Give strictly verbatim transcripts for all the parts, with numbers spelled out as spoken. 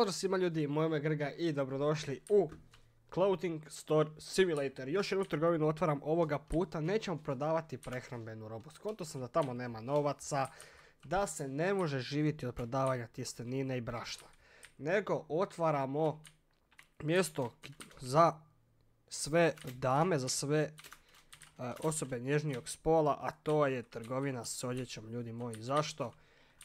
Pozdrav svima ljudi, moje ime je Grga i dobrodošli u Clothing Store Simulator. Još jednu trgovinu otvaram ovoga puta, nećemo prodavati prehrambenu robu. Skonto sam da tamo nema novaca, da se ne može živjeti od prodavanja tjestenine i brašna. Nego otvaramo mjesto za sve dame, za sve uh, osobe nježnijeg spola, a to je trgovina s odjećom, ljudi moji. Zašto?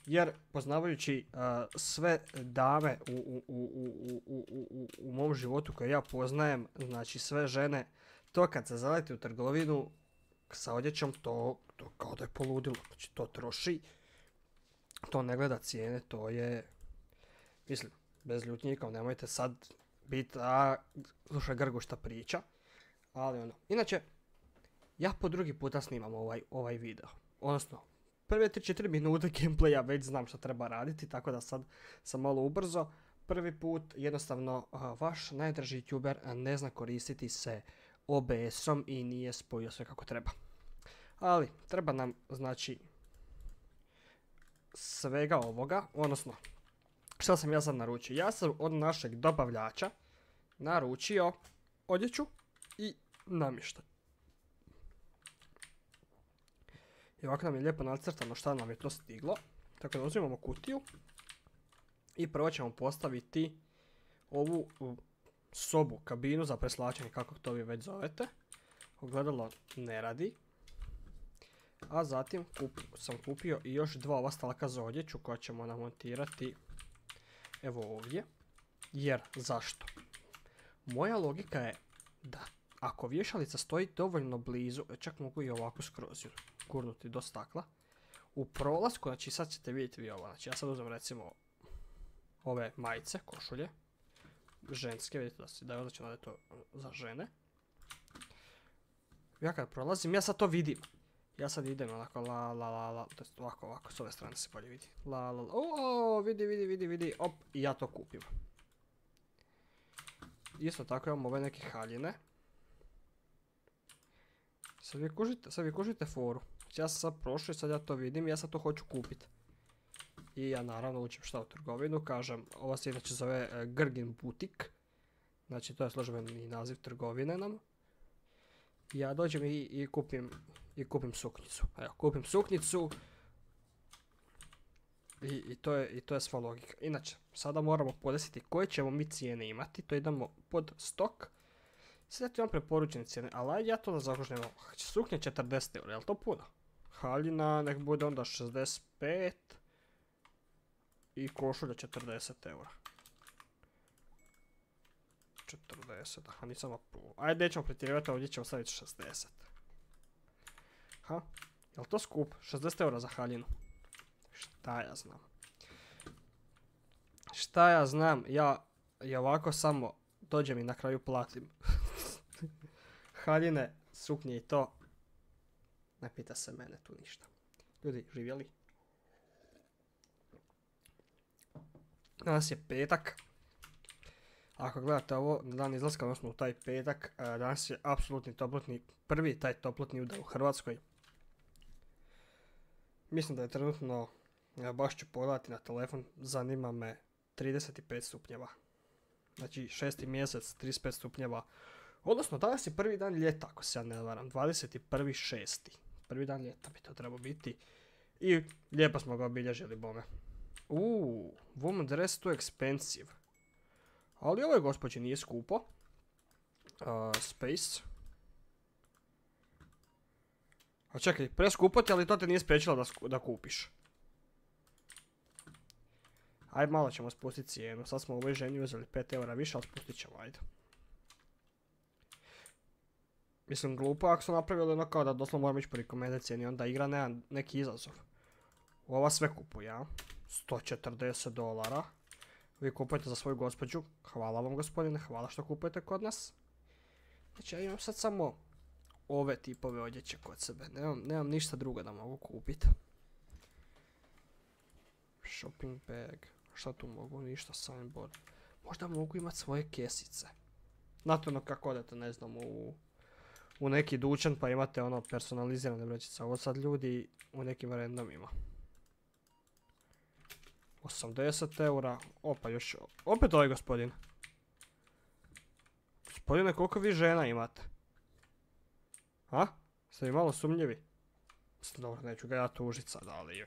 Jer poznavajući uh, sve dame u, u, u, u, u, u, u mom životu koje ja poznajem, znači sve žene, to kad se zaleti u trgovinu sa odjećom, to, to kao da je poludilo. Znači to troši, to ne gleda cijene, to je, mislim, bez ljutnjika, nemojte sad biti, a slušaj Grgu šta priča, ali ono. Inače, ja po drugi puta snimam ovaj, ovaj video, odnosno, prve tri četiri minute gameplaya već znam što treba raditi, tako da sad sam malo ubrzo. Prvi put jednostavno uh, vaš najdraži youtuber ne zna koristiti se O B S-om i nije spojio sve kako treba. Ali treba nam znači svega ovoga, odnosno što sam ja sad naručio. Ja sam od našeg dobavljača naručio odjeću i namještaj. I ovako nam je lijepo nacrtano šta nam je to stiglo. Tako da uzimamo kutiju i prvo ćemo postaviti ovu sobu, kabinu za preslačenje, kako to vi već zovete. Ogledalo ne radi. A zatim kup, sam kupio i još dva ova stalka za odjeću koja ćemo namontirati evo ovdje. Jer zašto? Moja logika je da ako vješalica stoji dovoljno blizu, čak mogu i ovako skroz gurnuti do stakla, u prolasku, znači sad ćete vidjeti vi ovo, znači ja sad uzmem recimo ove majice, košulje, ženske, vidite da, si, da je označeno da je to za žene. Ja kad prolazim, ja sad to vidim, ja sad idem onako la la la la, to je ovako ovako, s ove strane se bolje vidi, la la la, o, vidi vidi vidi vidi, op, i ja to kupim. Isto tako imamo ove neke haljine. Sad vi kužite, sad vi kužite foru. Ja sam sad prošao i sad ja to vidim i ja sad to hoću kupiti. I ja naravno učim šta u trgovinu, kažem, ova se inače zove e, Grgin Butik. Znači to je službeni naziv trgovine nam. I ja dođem i, i kupim, i kupim suknjicu. Evo, kupim suknjicu. I, i, to je, I to je sva logika. Inače, sada moramo podesiti koje ćemo mi cijene imati. To idemo pod stok. Sad ti imam preporučene cijene, ali ja to da zaokružim. Suknja četrdeset eura, je li to puno? Haljina nek bude onda šezdeset pet i košulja četrdeset eura. četrdeset, aha nisam apu. Ajde nećemo pretjerivati, ovdje ćemo staviti šezdeset. Ha, je li to skup? šezdeset eura za haljinu. Šta ja znam? Šta ja znam, ja, ja ovako samo dođem i na kraju platim. Haljine, suknje i to. Ne pita se mene tu ništa. Ljudi, živjeli? Danas je petak. Ako gledate ovo na dan izlaska, odnosno u taj petak, danas je apsolutni toplotni, prvi taj toplotni udar u Hrvatskoj. Mislim da je trenutno, ja baš ću pogledati na telefon, zanima me trideset pet stupnjeva. Znači šesti mjesec, trideset pet stupnjeva. Odnosno danas je prvi dan ljeta, ako se ja ne varam, dvadeset prvi šesti Prvi dan ljeta bi to trebao biti. I lijepo smo ga obilježili, bome. Uuu, woman dress too expensive. Ali ovo je gospođi nije skupo. Uh, space. A čekaj, preskupo ti, ali to te nije spriječilo da, da kupiš. Ajde, malo ćemo spustiti cijenu. Sad smo u ovoj ženi uzeli pet eura više, ali spustit ćemo, ajde. Mislim, glupo ako su napravili ono kao da doslovno moram ići po rekomendaciji cijeni, onda igra nema neki izazov. Ova sve kupuje, ja. sto četrdeset dolara. Vi kupujete za svoju gospođu. Hvala vam, gospodine, hvala što kupujete kod nas. Znači, ja imam sad samo ove tipove odjeće kod sebe. Nemam, nemam ništa drugo da mogu kupiti. Shopping bag. Šta tu mogu? Ništa, signboard. Možda mogu imati svoje kesice. Znate ono kako odete, ne znam, u, u neki dućan pa imate ono personalizirane vrećice. Ovo sad ljudi u nekim randomima. osamdeset eura. Opa, još... Opet ovaj gospodin. Gospodine, koliko vi žena imate? A? Ste vi malo sumnjivi? Dobro, neću ga ja tužit sad, ali...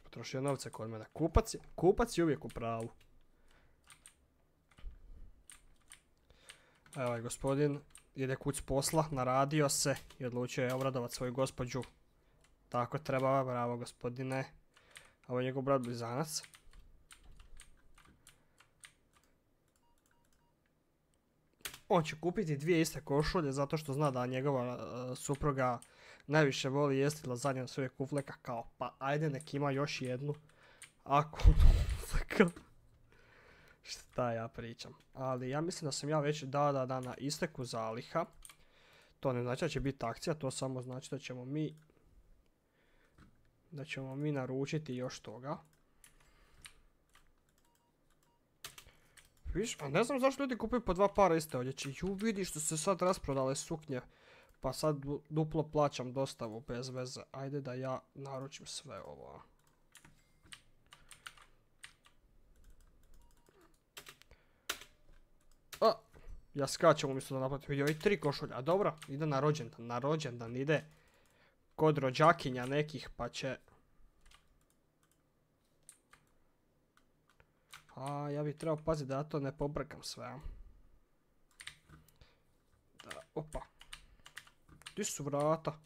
Potrošio novce kod mene. Kupac je, kupac je uvijek u pravu. Evo ovaj gospodin ide kuć s posla, naradio se i odlučio je obradovat svoju gospođu. Tako treba, bravo gospodine. Ovo je njegov brat blizanac. On će kupiti dvije iste košulje zato što zna da njegova uh, supruga najviše voli jesti lazanje na svoje kufleka, kao pa ajde nek ima još jednu. Ako šta ja pričam. Ali ja mislim da sam ja već da da da na isteku zaliha. To ne znači da će biti akcija, to samo znači da ćemo mi da ćemo mi naručiti još toga. Viš, a ne znam zašto ljudi kupuju po dva para iste odjeće. Ju, vidi što se sad rasprodale suknje. Pa sad duplo plaćam dostavu bez veze. Ajde da ja naručim sve ovo. A, ja skačem umjesto da naplatim. Vidio i tri košulja. A dobro, ide na rođendan. Na rođendan ide kod rođakinja nekih pa će... A, ja bih trebao paziti da ja to ne pobrkam sve. Da, opa. Gdje su vrata?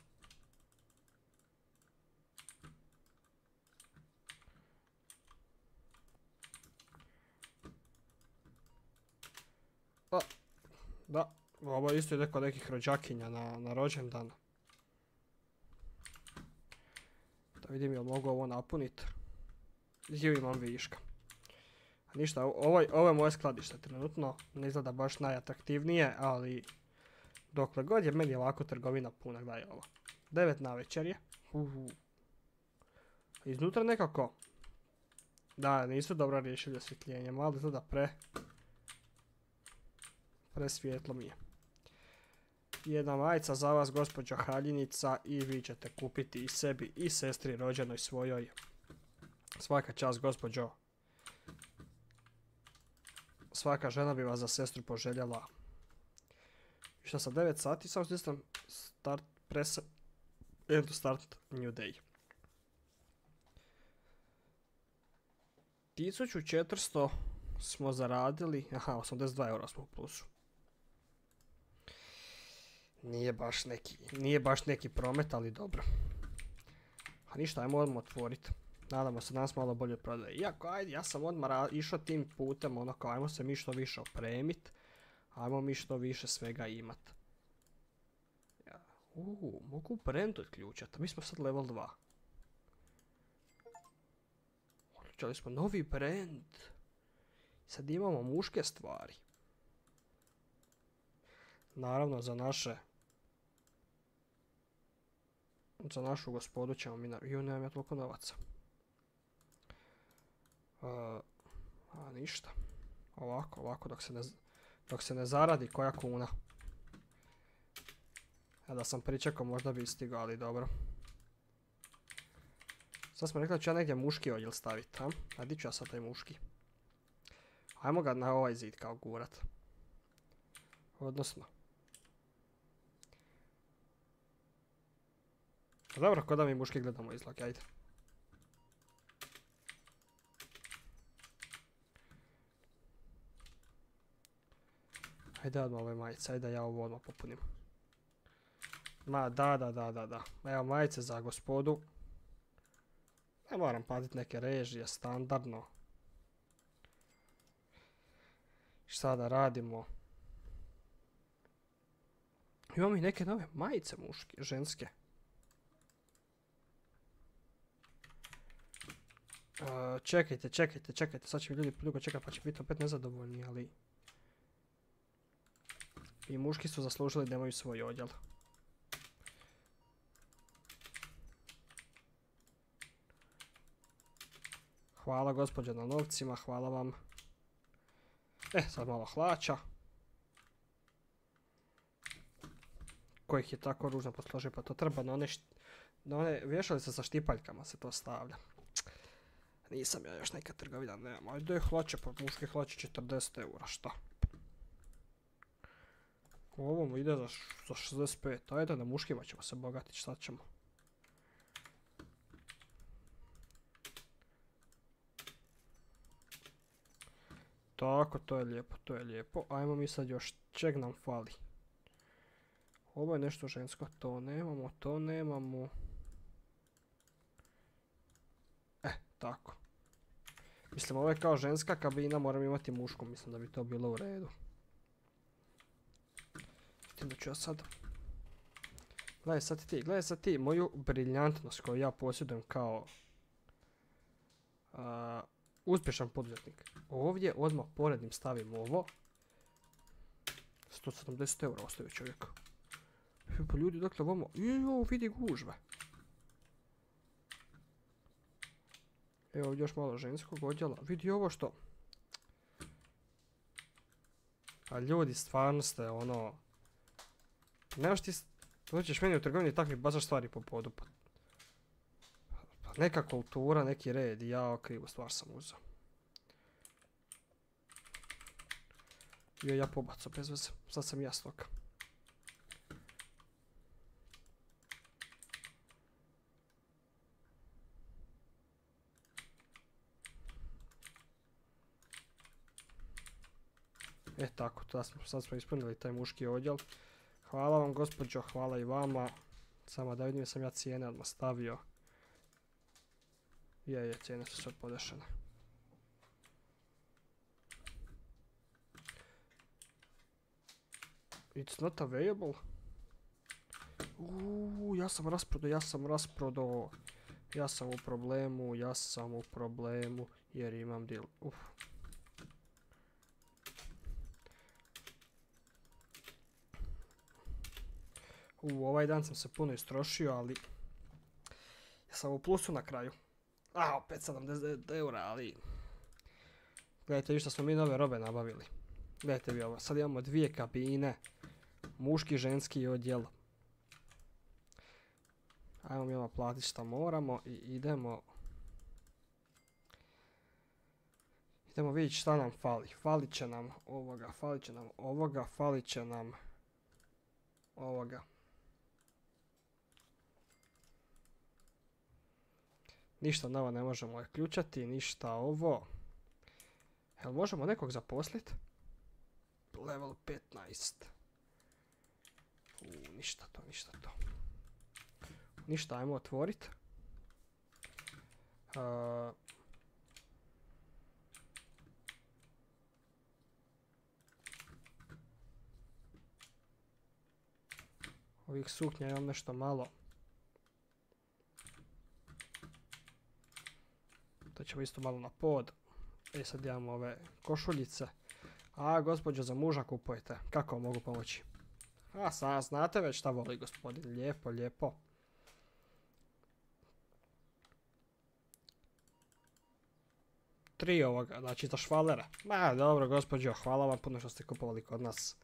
A, da, ovo isto ide kod nekih rođakinja na, na rođendan. Da vidim jel mogu ovo napuniti. Gdje imam viška. Ništa, ovo, ovo je moje skladište trenutno, ne izgleda baš najatraktivnije, ali dokle god je meni ovako trgovina puna, gledaj ovo. devet navečer je. Uhu. Iznutra nekako, da, nisu dobro riješili osvjetljenje, malo izgleda pre, pre svjetlo mi je. Jedna majica za vas, gospođo Haljinica, i vi ćete kupiti i sebi i sestri rođenoj svojoj. Svaka čast, gospođo. Svaka žena bi vas za sestru poželjela. Šta sa devet sati, samo stisnem start press and to start new day. tisuću četiristo smo zaradili, aha, osamdeset dva eura smo u plusu. Nije baš neki, nije baš neki promet, ali dobro. A ništa, ajmo odmah otvoriti. Nadamo se danas malo bolje prodaje. Iako, ajde, ja sam odmah išao tim putem, ono kao, ajmo se mi što više opremit. Ajmo mi što više svega imat. Ja, uuu, mogu brand odključati, mi smo sad level dva. Odključali smo novi brand. Sad imamo muške stvari. Naravno, za naše... Za našu gospodu ćemo mi... Ju, nemam ja toliko novaca. Uh, a ništa. Ovako, ovako, dok se ne, dok se ne zaradi koja kuna. Ja da sam pričekao, možda bi stigao, ali dobro. Sad smo rekli da ću ja negdje muški odjel staviti, a? A di ću ja sad taj muški? Ajmo ga na ovaj zid kao gurat. Odnosno. Dobro, ko da mi muški gledamo izlog, ajde. Ajde odmah ove majice, ajde ja ovo odmah popunim. Ma da, da, da, da, da. Evo majice za gospodu. Ne moram platiti neke režije, standardno. Šta da radimo? Imamo i neke nove majice muške, ženske. Uh, čekajte, čekajte, čekajte, sad će mi ljudi dugo čekati pa će biti opet nezadovoljni, ali... I muški su zaslužili da imaju svoj odjel. Hvala gospođo na novcima, hvala vam. E, sad malo hlača. Kojih je tako ružno posložio, pa to treba na one, na one vješalice sa štipaljkama se to stavlja. Nisam ja još neka trgovina, nemam. Ajde hlače, pa muške hlače četrdeset eura, šta? Ovo mu ide za, za šezdeset pet, ajde na muškima ćemo se bogatiti, šta ćemo? Tako, to je lijepo, to je lijepo. Ajmo mi sad još, čeg nam fali? Ovo je nešto žensko, to nemamo, to nemamo. E, tako. Mislim, ovo je kao ženska kabina, moram imati mušku, mislim da bi to bilo u redu. Tim da ću ja sad... Gledaj sad ti, gledaj sad ti moju briljantnost koju ja posjedujem kao... Uh, uspješan poduzetnik. Ovdje odmah porednim stavim ovo. sto sedamdeset eura ostavio čovjek. Pa ljudi, dakle, vamo... Evo, vidi gužve. Evo ovdje još malo ženskog odjela. Vidi ovo što... Pa ljudi, stvarno ste ono... Nemaš ti... Dođeš meni u trgovini i tak mi bacaš stvari po podu. Pa... pa neka kultura, neki red. Ja krivu stvar sam uzeo. Jo, ja pobacao bez veze. Sad sam ja stoka. E tako, sad smo ispunili taj muški odjel. Hvala vam gospođo, hvala i vama. Samo da vidim sam ja cijene odmah stavio. Je, je, cijene su sve podešene. It's not available. Uuu, ja sam rasprodao, ja sam rasprodao. Ja sam u problemu, ja sam u problemu jer imam deal. Uf. U, ovaj dan sam se puno istrošio, ali ja sam u plusu na kraju. A, opet sedamdeset eura, ali... Gledajte vi što smo mi nove robe nabavili. Gledajte vi ovo, sad imamo dvije kabine. Muški i ženski odjel. Ajmo mi ovo platiti što moramo i idemo... Idemo vidjeti šta nam fali. Falit će nam ovoga, falit će nam ovoga, falit će nam ovoga. Ništa novo ne možemo ključati, ništa ovo. Jel možemo nekog zaposliti? Level petnaest. U, ništa to, ništa to. Ništa, ajmo otvoriti. Uh, ovih suknja imam nešto malo. To ćemo isto malo na pod. E sad imamo ove košuljice. A gospođo za muža kupujete. Kako vam mogu pomoći? A sad znate već šta voli gospodin. Lijepo, lijepo. Tri ovoga, znači za švalera. Ma dobro gospođo, hvala vam puno što ste kupovali kod nas.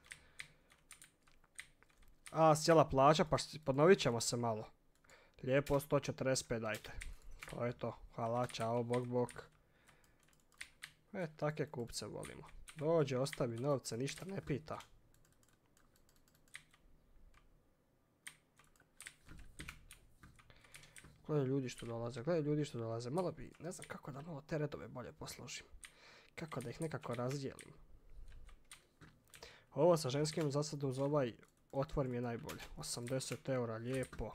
A sjela plaća, pa ponovit ćemo se malo. Lijepo, sto četrdeset pet dajte. To je to. Hvala, čao, bok, bok. E, takve kupce volimo. Dođe, ostavi novce, ništa ne pita. Gledaj ljudi što dolaze, gledaj ljudi što dolaze. Malo bi, ne znam kako da malo te redove bolje posložim. Kako da ih nekako razdijelim. Ovo sa ženskim za sad uz ovaj otvor mi je najbolje. osamdeset eura, lijepo.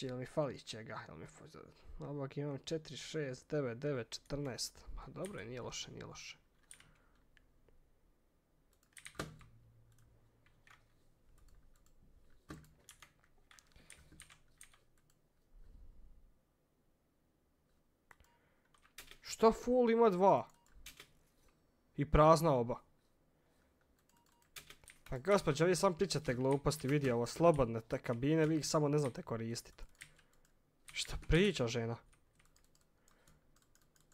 Jel mi fali čega? Jel mi fali... Ovog imam četiri, šest, devet, devet, četrnaest. Pa dobro je, nije loše, nije loše. Što full ima dva? I prazna oba. Pa gospođo, vi sam pričate gluposti, vidi ovo, slobodne te kabine, vi ih samo ne znate koristiti. Šta priča žena?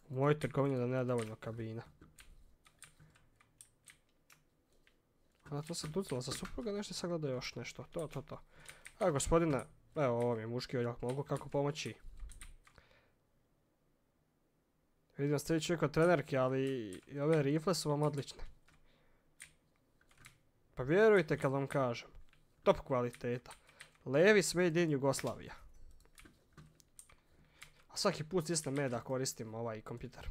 U mojoj trgovini da nema dovoljno kabina. A to se ducalo za supruga, nešto sad gleda još nešto, to, to, to. A gospodine, evo ovo mi je muški odjel, mogu kako pomoći? Vidim da ste vi čovjek od trenerke, ali i ove rifle su vam odlične. Pa vjerujte kad vam kažem. Top kvaliteta. Levis made in Jugoslavia. A svaki put isne me da koristim ovaj kompjuter.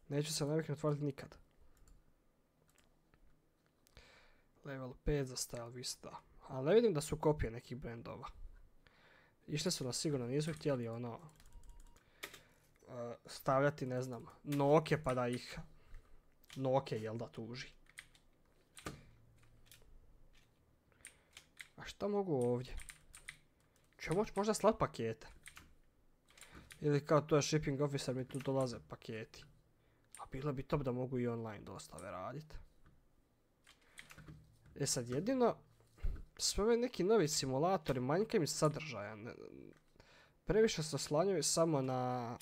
Neću se naviknuti otvoriti nikad. Level pet za Style Vista. Ali ne vidim da su kopije nekih brendova. Išli su nas sigurno, nisu htjeli ono... Uh, stavljati, ne znam, Noke pa da ih... Noke, jel da, tuži. A šta mogu ovdje? Ću moći možda slat pakete? Ili kao to je shipping officer, mi tu dolaze paketi. A bilo bi top da mogu i online dostave raditi. E sad jedino, sve ove neki novi simulatori, manjka mi sadržaja. Ne, previše se oslanjaju samo na...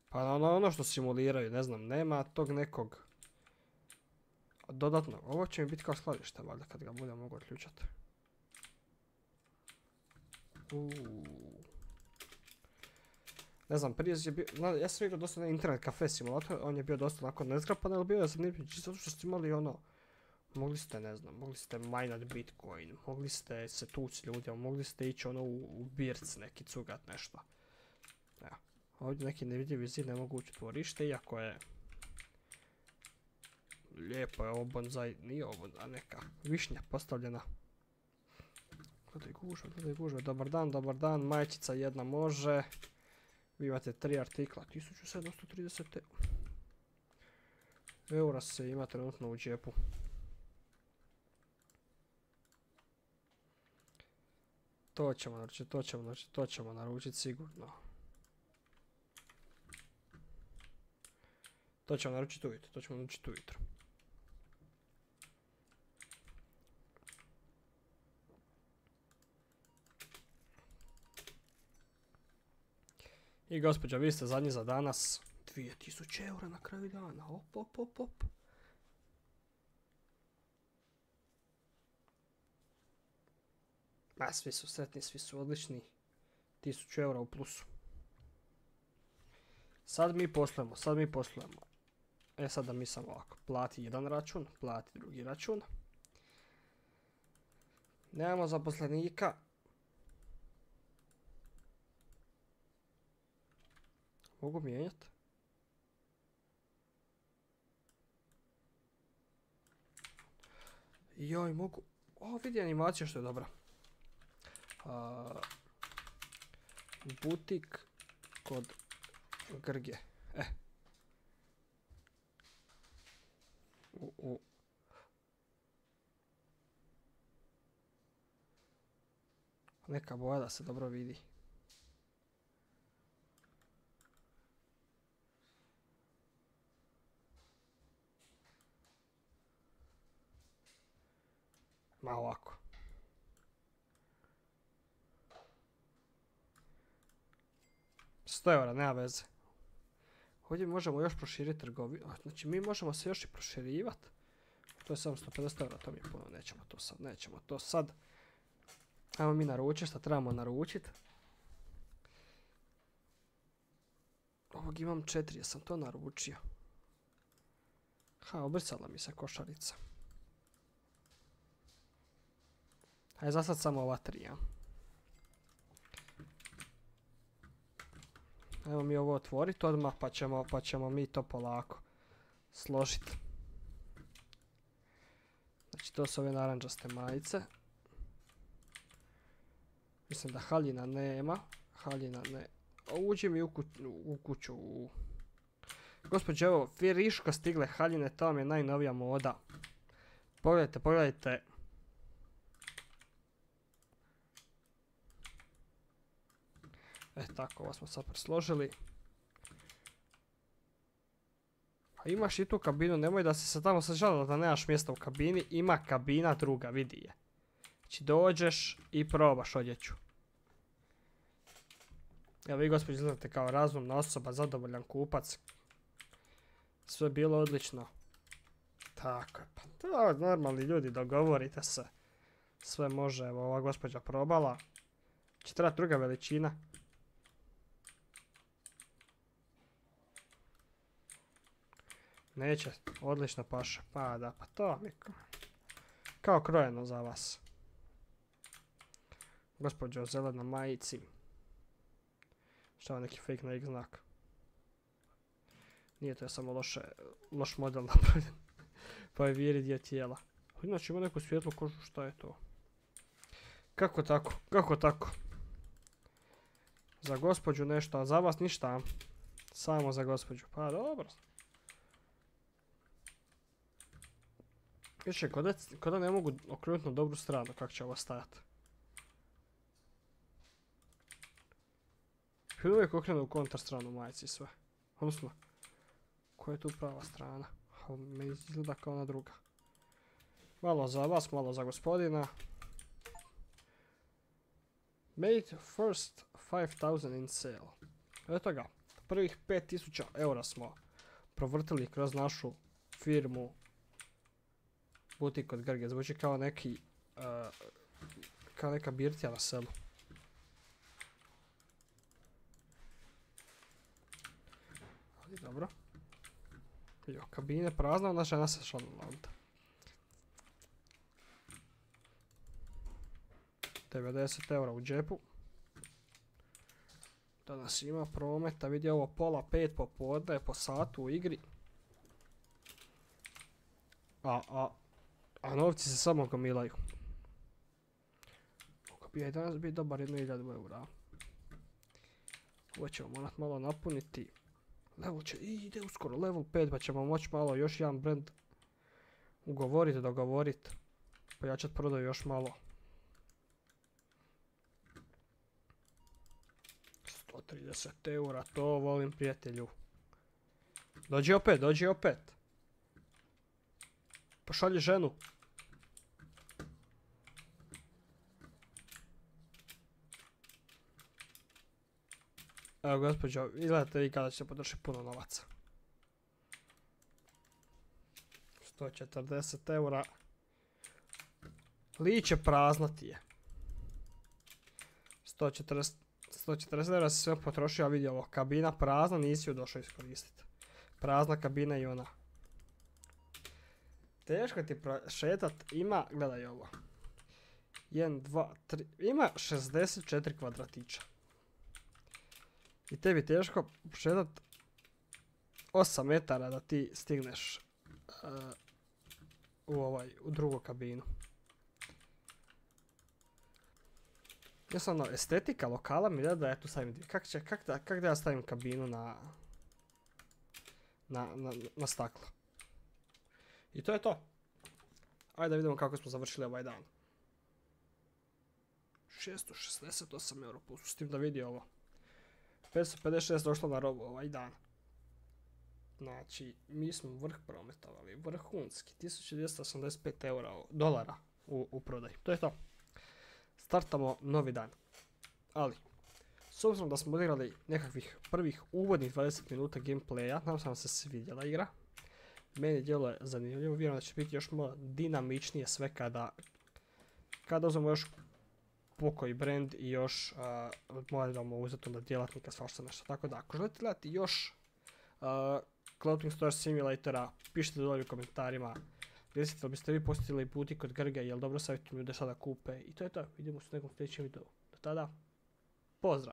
Pa na ono, ono što simuliraju, ne znam, nema tog nekog dodatnog. Ovo će mi biti kao skladište, valjda, kad ga budem mogu otključati. Uuu. Ne znam, prije je bio, ja sam igrao dosta na internet kafe simulator, on je bio dosta onako nezgrapan, ali bio je zanimljiv, čisto što ste imali ono, mogli ste, ne znam, mogli ste minat Bitcoin, mogli ste se tući ljudima, mogli ste ići ono u, u birc neki cugat nešto. Evo, ovdje neki nevidljivi zid ne mogu ući u tvorište, iako je lijepo je ovo bonsai, nije ovo neka višnja postavljena. Gledaj gužve, gledaj gužve, dobar dan, dobar dan, majčica jedna može. Vi imate tri artikla, tisuću sedamsto trideset eura se ima trenutno u džepu. To ćemo naručiti, to ćemo naručiti, to ćemo naručiti sigurno. To ćemo naručiti ujutro, to ćemo naručiti ujutro. I gospođo, vi ste zadnji za danas. dvije tisuće eura na kraju dana. Op, op, op, op. Ma, svi su sretni, svi su odlični. tisuću eura u plusu. Sad mi poslujemo, sad mi poslujemo. E sad da mi samo ovako. Plati jedan račun, plati drugi račun. Nemamo zaposlenika. Mogu mijenjati? Joj, mogu... O, vidi animaciju što je dobra. Uh, butik kod Grge. E. U, u. Neka boja da se dobro vidi. Ma ovako. sto eura, nema veze. Ovdje možemo još proširiti trgovinu. Znači mi možemo se još i proširivati. To je samo sto pedeset eura, to mi je puno. Nećemo to sad, nećemo to sad. Ajmo mi naručiti što trebamo naručiti. Ovog imam četiri, jesam to naručio. Ha, obrisala mi se košarica. Ajde za sad samo ova tri, ja. Evo mi ovo otvoriti odmah pa ćemo, pa ćemo mi to polako složiti. Znači to su ove naranđaste majice. Mislim da haljina nema. Haljina ne. O, uđi mi u, ku, u kuću. U... Gospođe, evo, Firiška stigle haljine, to vam je najnovija moda. Pogledajte, pogledajte. E tako, ovo smo sad presložili. A imaš i tu kabinu, nemoj da se sad tamo sad žalila da nemaš mjesta u kabini. Ima kabina druga, vidi je. Znači dođeš i probaš odjeću. Evo vi gospođi izgledate kao razumna osoba, zadovoljan kupac. Sve bilo odlično. Tako je, pa to normalni ljudi, dogovorite se. Sve može, evo ova gospođa probala. Će trebati druga veličina. Neće, odlična paša. Pa da, pa to vam je kao krojeno za vas. Gospođo zelena majici. Šta je neki fake Nike znak? Nije to je samo loše, loš model napravljen. Pa je viri dio tijela. Inače ima neku svijetlu kožu, šta je to? Kako tako? Kako tako? Za gospođu nešto, a za vas ništa. Samo za gospođu. Pa dobro. Više, kod da ne mogu okrenuti na dobru stranu, kako će ovo stajati. I uvijek okrenu u kontra stranu majici i sve. Odnosno, koja je tu prava strana? Meni izgleda kao ona druga. Malo za vas, malo za gospodina. Made first five thousand in sale. Eto ga, prvih pet tisuća eura smo provrtili kroz našu firmu Butik od Grge. Zvuči kao neki, uh, kao neka birtija na selu. Ali dobro. Jo, kabine prazna, ona žena se šalila ovdje. devedeset eura u džepu. Danas ima prometa, vidi ovo pola pet popodne po satu u igri. A, a, a novci se samo gomilaju. Mogu bi ja i danas biti dobar jednu hiljadu eura. Ovo ćemo morat malo napuniti. Level će, i ide uskoro level pet, pa ćemo moći malo još jedan brand ugovoriti, dogovoriti. Pojačat prodaju još malo. sto trideset eura, to volim prijatelju. Dođi opet, dođi opet. Pošalji ženu. Evo gospođo, izgledate vi kada ćete potrošiti puno novaca. sto četrdeset eura. Liće prazno ti je. sto četrdeset eura si sve potrošio, a vidi ovo, kabina prazna, nisi ju došao iskoristiti. Prazna kabina i ona. Teško ti šetat, ima, gledaj ovo. jedan, dva, tri, ima šezdeset četiri kvadratića. I tebi teško šetat osam metara da ti stigneš uh, u, ovaj, u drugu kabinu. Jednostavno, estetika lokala mi da ja tu stavim, kak, će, kak, da, kak da ja stavim kabinu na, na, na, na staklo. I to je to. Ajde da vidimo kako smo završili ovaj dan. šesto šezdeset osam eura plus, s tim da vidi ovo. petsto pedeset šest došlo na robu ovaj dan. Znači, mi smo vrh prometovali, vrhunski, tisuću dvjesto osamdeset pet eura, dolara u, u prodaju. To je to. Startamo novi dan. Ali, s obzirom da smo odigrali nekakvih prvih uvodnih dvadeset minuta gameplaya, nam sam se svidjela igra. Meni djelo je zanimljivo, vjerujem da će biti još malo dinamičnije sve kada kada uzmemo još pokoji brand i još uh, moramo uzeti onda djelatnika svašta nešto. Tako da, ako želite gledati još uh, Clothing Store Simulatora, pišite dolje u komentarima. Recite li biste vi posjetili Butik od Grge, jel dobro savjetujem ljude sada kupe. I to je to, vidimo se u nekom sljedećem videu. Do tada, pozdrav!